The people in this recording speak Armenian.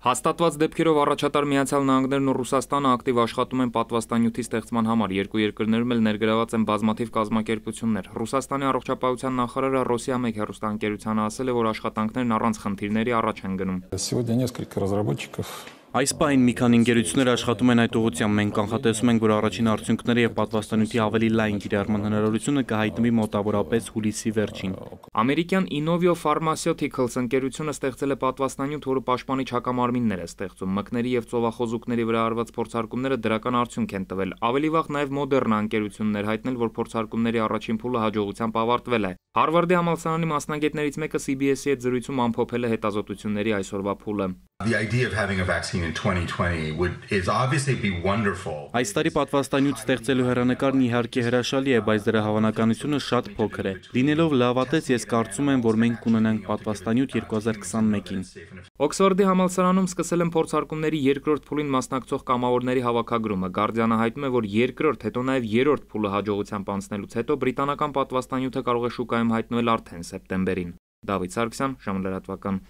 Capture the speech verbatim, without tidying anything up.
Հաստատված դեպքերով առաջատար Միացյալ Նահանգներն ու Ռուսաստանը ակտիվ աշխատում են պատվաստանյութի ստեղծման համար, երկու երկրներում էլ ներգրաված են բազմաթիվ կազմակերպություններ։ Ռուսաստանի առողջապահության նախարարը Ռոսիա մեկ հեռուստաընկերությանը ասել է, որ աշխատանքներն առանց խնդիրների առաջ են գնում։ Այս պահին մի քանի ընկերություններ աշխատում են այդ ուղղությամբ։ Մենք կանխատեսում ենք, որ առաջին արդյունքները եւ պատվաստանյութի ավելի լայն կիրառման հնարավորությունը կհայտնվի մոտավորապես հուլիսի վերջին։ Ամերիկյան Inovio Pharmaceuticals ընկերությունը ստեղծել է պատվաստանյութ, որը պաշտպանիչ հակամարմիններ է ստեղծում։ Մկների եւ ծովախոզուկների վրա արված փորձարկումները դրական արդյունք են տվել։ Ավելի վաղ նաեւ Moderna ընկերությունն էր հայտնել, որ փորձարկումների առաջին փուլը հաջողությամբ ավարտվել է։ Հարվարդի համալսարանի մասնագետներից մեկը C B S-ի հետ զրույցում ամփոփել է հետազոտությունների այսօրվա փուլը։ Այս տարի պատվաստանյութ ստեղծելու հեռանկարն իհարկե հրաշալի է, բայց դրա հավանականությունը շատ փոքր է։ Լինելով լավատես, ես կարծում եմ, որ մենք կունենանք պատվաստանյութ երկու հազար քսանմեկին։ Օքսֆորդի համալսարանում սկսել են փորձարկումների երկրորդ փուլին մասնակցող կամավորների հավաքագրումը։ Guardian-ը հայտնում է, որ երկրորդ, հետո նաև երրորդ փուլը հաջողությամբ անցնելուց հետո բրիտանական պատվաստանյութը կարող է շուկայում հայտնվել արդեն սեպտեմբերին։ Դավիթ Սարգսյան, ժամը լրատվական։